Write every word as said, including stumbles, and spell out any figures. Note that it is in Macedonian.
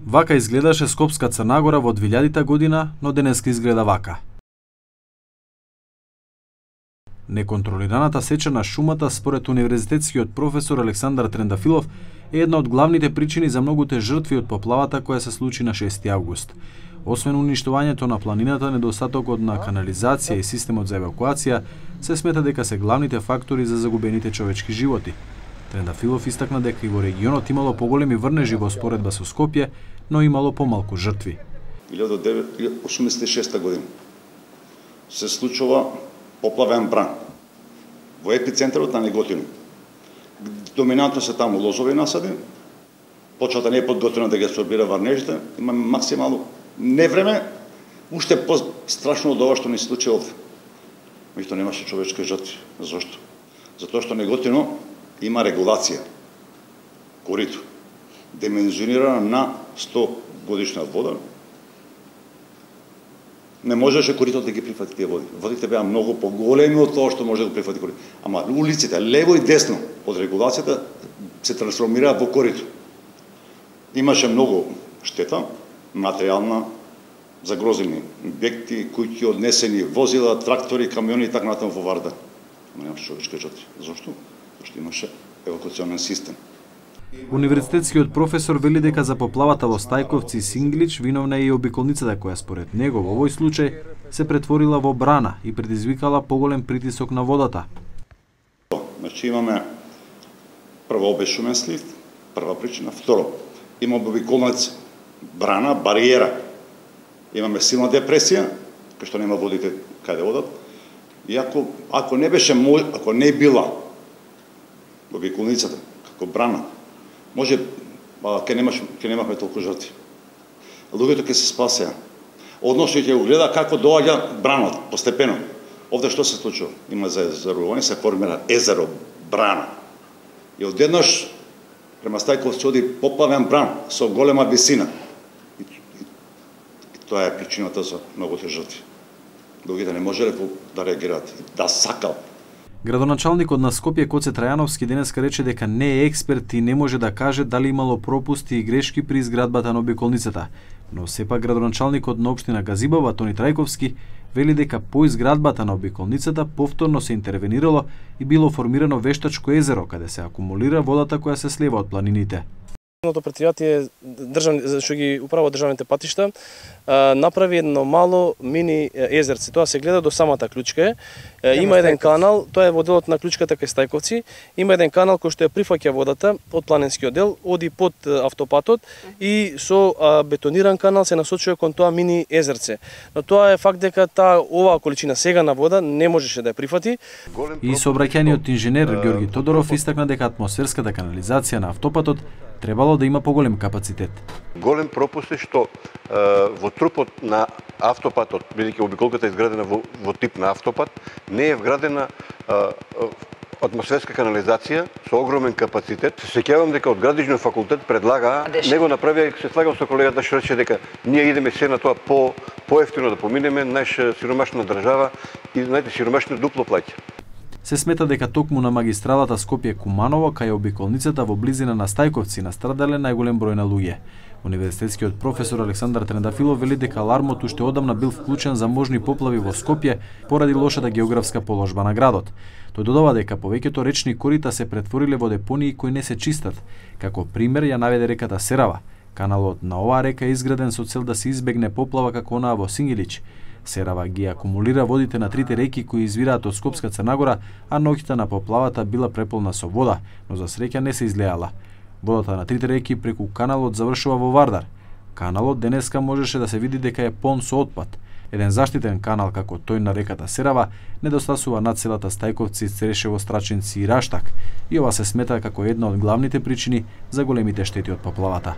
Вака изгледаше Скопска Црна Гора во двилјадита година, но денеска изгледа вака. Неконтролираната сеча на шумата, според универзитетскиот професор Александар Трендафилов, е една од главните причини за многуте жртви од поплавата која се случи на шести август. Освен уништувањето на планината, недостатокот на канализација и системот за евакуација се смета дека се главните фактори за загубените човечки животи. Трендафилов истакна дека и во регионот имало поголеми врнежи во споредба со Скопје, но имало помалку жртви. илјадесет деветстотини осумдесет и шеста година се случува поплавен бран во епицентарот на Неготино. Доминантно се таму лозови насади, почвата не е подготвена да ги абсорбира врнежите, има максимално невреме, уште по-страшно од ова што ни се случи овде. Меѓутоа немаше човечки жртви. Зошто? Затоа што Неготино има регулација. Корито, димензионирана на сто годишна вода, не можеше коритото да ги прифати тие води. Водите беа многу поголеми од тоа што може да го прифати корито. Ама улиците, лево и десно од регулацијата, се трансформираа во корито. Имаше многу штета, материјална, загрозени објекти, куќи однесени, возила, трактори, камиони и така натаму во Вардар. Ама немаше човечки жртви. Зошто? Зашто имаше евакуационен систем. Универзитетскиот професор вели дека за поплавата во Стајковци и Синглич виновна е и обиколницата која според него во овој случај се претворила во брана и предизвикала поголем притисок на водата. Значи имаме прво обешумен слив, прва причина, второ имаме обиколница, брана, бариера. Имаме силна депресија, кај што нема водите каде одат. И ако ако не беше ако не била обиколницата како брана, може ќе немаш ќе немавме толку жртви. Луѓето ќе се спасеа. Односно ќе го гледа како доаѓа бранот постепено. Овде што се случува? Има заезерување, се формира езеро, брана. И одеднаш према Стајковци оди поплавен бран со голема висина. И, и, и тоа е причината за многуте жртви. Луѓето не можеле да реагираат, да сакал. Градоначалникот на Скопје Коце Трајановски денеска рече дека не е експерт и не може да каже дали имало пропусти и грешки при изградбата на обиколницата, но сепак градоначалникот на општина Газибова Тони Трајковски вели дека по изградбата на обиколницата повторно се интервенирало и било формирано вештачко езеро каде се акумулира водата која се слева од планините. Предпријатие државни што ги управува државните патишта направи едно мало мини езерце. Тоа се гледа до самата клучка. Има еден канал, тоа е во делот на клучката кај Стајковци. Има еден канал кој што ја прифаќа водата од планинскиот дел, оди под автопатот и со бетониран канал се насочува кон тоа мини езерце. Но тоа е факт дека таа оваа количина сега на вода не можеше да ја прифати. И сообраќајниот инженер Ѓорги Тодоров истакна дека атмосферската канализација на автопатот требало да има поголем капацитет. Голем пропуст е што е, во трупот на автопатот, бидејќи обиколката е изградена во, во тип на автопат, не е вградена е, атмосферска канализација со огромен капацитет. Се сеќавам дека од Градежниот факултет предлага, него направија, се слагам со колегата што рече дека ние идеме се на тоа по поевтино да поминеме, наша сиромашна држава и знаете сиромашно дупло плаќа. Се смета дека токму на магистралата Скопје-Куманово, кај обиколницата во близина на Стајковци, настрадале најголем број на луѓе. Универзитетскиот професор Александар Трендафилов вели дека алармот уште одамна бил вклучен за можни поплави во Скопје поради лошата географска положба на градот. Тој додава дека повеќето речни корита се претвориле во депонии кои не се чистат. Како пример ја наведе реката Серава. Каналот на оваа река е изграден со цел да се избегне поплава како онаа во Сингилич. Серава ги акумулира водите на трите реки кои извираат од Скопска Црна Гора, а ноќта на поплавата била преполна со вода, но за среќа не се излеала. Водата на трите реки преку каналот завршува во Вардар. Каналот денеска можеше да се види дека е полн со отпад. Еден заштитен канал како тој на реката Серава недостасува над селата Стајковци, Церешево, Страчинци и Раштак, и ова се смета како една од главните причини за големите штети од поплавата.